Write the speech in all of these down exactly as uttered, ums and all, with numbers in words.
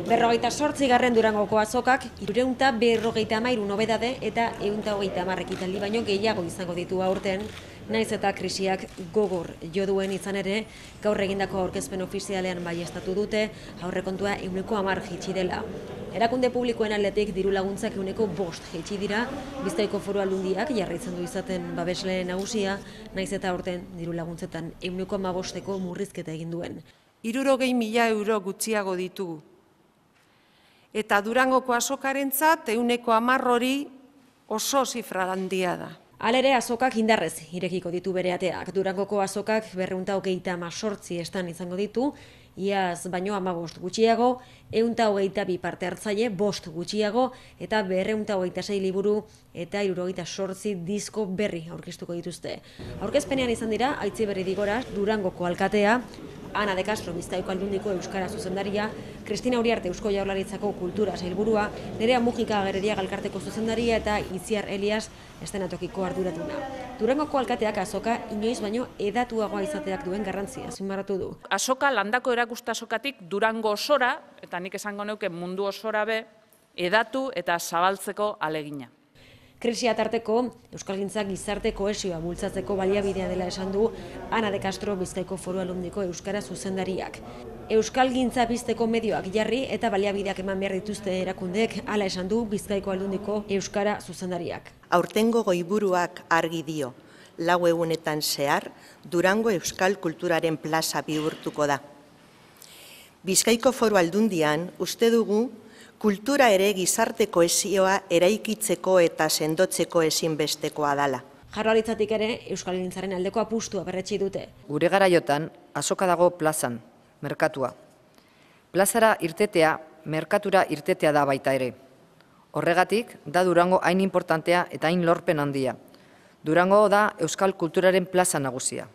Berrogeita sortzigarren Durangoko azokak hirurehun eta berrogeita hamairu nobedade eta ehun eta hogeita hamar ekitaldi baino gehiago izango ditu aurten, naiz eta krisiak gogor jo duen izan ere, gaur egindako aurkezpen ofizialean baieztatu dute, aurrekontua ehuneko hamar jaitsi dela. Erakunde publikoen aldetik diru laguntzak ehuneko bost jaitsi dira, Bizkaiko Foru Aldundiak jarraitzen du izaten babesle nagusia, naiz eta aurten diru laguntzetan ehuneko hamabosteko murrizketa egin duen. Hirurogei mila euro gutxiago ditugu. Eta Durangoko azokarentzat ehuneko hamar hori oso zifra handia da. Halere, azokak indarrez irekiko ditu bere ateak. Durangoko azokak berrehun eta hogeita hemezortzi estan izango ditu, iaz baino hamabost gutxiago, ehun eta hogeita bi parte hartzaile, bost gutxiago, eta berrehun eta hogeita sei liburu eta hirurogeita zortzi disko berri aurkeztuko dituzte. Aurkezpenean izan dira, Aitziberri Digora, Durangoko alkatea, Ana de Castro, Bizkaiko Aldundiko euskara zuzendaria, Kristina Uriarte, Eusko Jaurlaritzako kultura sailburua, Nerea Mujika Agereria Galkarteko zuzendaria eta Itziar Elias estenatokiko arduraduna. Durangoko alkateak azoka inoiz baino edatuagoa izateak duen garrantzia azpimarratu du. Azoka landako erakusta azokatik Durango osora, eta nik esango neuke mundu osora be, edatu eta zabaltzeko alegina. Krisia tarteko, Euskalgintza gizarte kohesioa bultzatzeko baliabidea dela esan du Ana de Castro, Bizkaiko Foru Aldundiko euskara zuzendariak. Euskalgintza pizteko medioak jarri eta baliabideak eman behar dituzte erakundeek, hala esan du Bizkaiko Aldundiko euskara zuzendariak. Aurtengo goiburuak argi dio, lau egunetan zehar, Durango euskal kulturaren plaza bihurtuko da. Bizkaiko Foru Aldundian uste dugu kultura ere gizarte kohesioa eraikitzeko eta sendotzeko ezinbestekoa dala. Jaurlaritzatik ere Euskalgintzaren aldeko apustua berretsi dute. Gure garaiotan azoka dago plazan, merkatua. Plazara irtetea, merkatura irtetea da baita ere. Horregatik, da Durango hain importantea eta hain lorpen handia. Durango da euskal kulturaren plaza nagusia.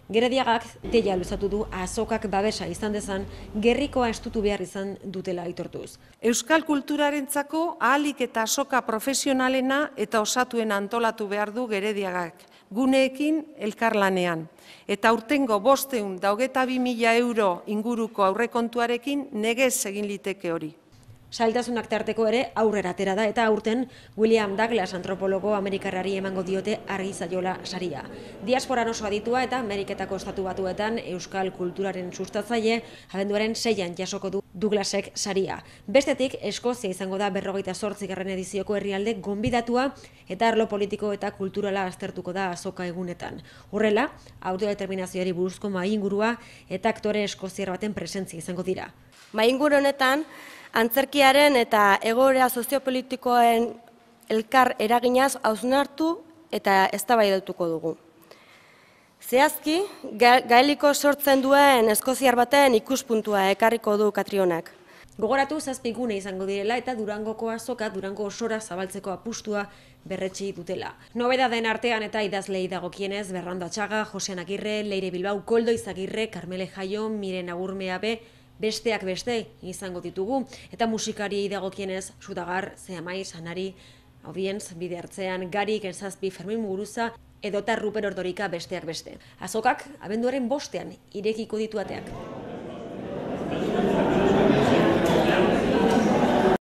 Gerediagak deia luzatu du azokak babesa izan dezan, gerrikoa estutu behar izan dutela aitortuz. Euskal kulturarentzako ahalik eta azoka profesionalena eta osatuen antolatu behar du Gerediagak, guneekin elkarlanean. Eta aurtengo bosteun da hogeita bi mila euro inguruko aurrekontuarekin negez egin liteke hori. Sailtasunak tarteko ere aurrera atera da eta aurten William Douglas antropologo amerikarrari emango diote argi zaiola saria. Diasporan oso aditua eta Ameriketako estatu batuetan euskal kulturaren sustatzaile abenduaren seian jasoko du Douglasek saria. Bestetik, Eskozia izango da berrogeita zortzigarren edizioko herrialde gonbidatua eta arlo politiko eta kulturala aztertuko da azoka egunetan. Horrela, autodeterminazioari buruzko mahaingurua eta aktore eskoziar baten presentzia izango dira. Mahainguru honetan, antzerkiaren eta egoera soziopolitikoen elkar eraginaz hausnartu eta eztabaidatuko dugu. Zehazki, gaeliko sortzen duen eskoziar baten ikuspuntua ekarriko du Katrionak. Gogoratu zazpi gune izango direla eta Durangoko azoka Durango osora zabaltzeko apustua berretsi dutela. Nobedaden artean eta idazlei dagokienez Berrando Atxaga, Josean Agirre, Leire Bilbao, Koldo Izagirre, Carmele Jaio, Miren Agurmeabe, besteak beste izango ditugu, eta musikari dagokienez Sudagar, Zeamaiz, Anari, Audientz, Bide Hartzean, Gari, Genzazpi, Fermin Muguruza, edota Ruper Ordorika besteak beste. Azokak, abenduaren bostean irekiko ditu ateak.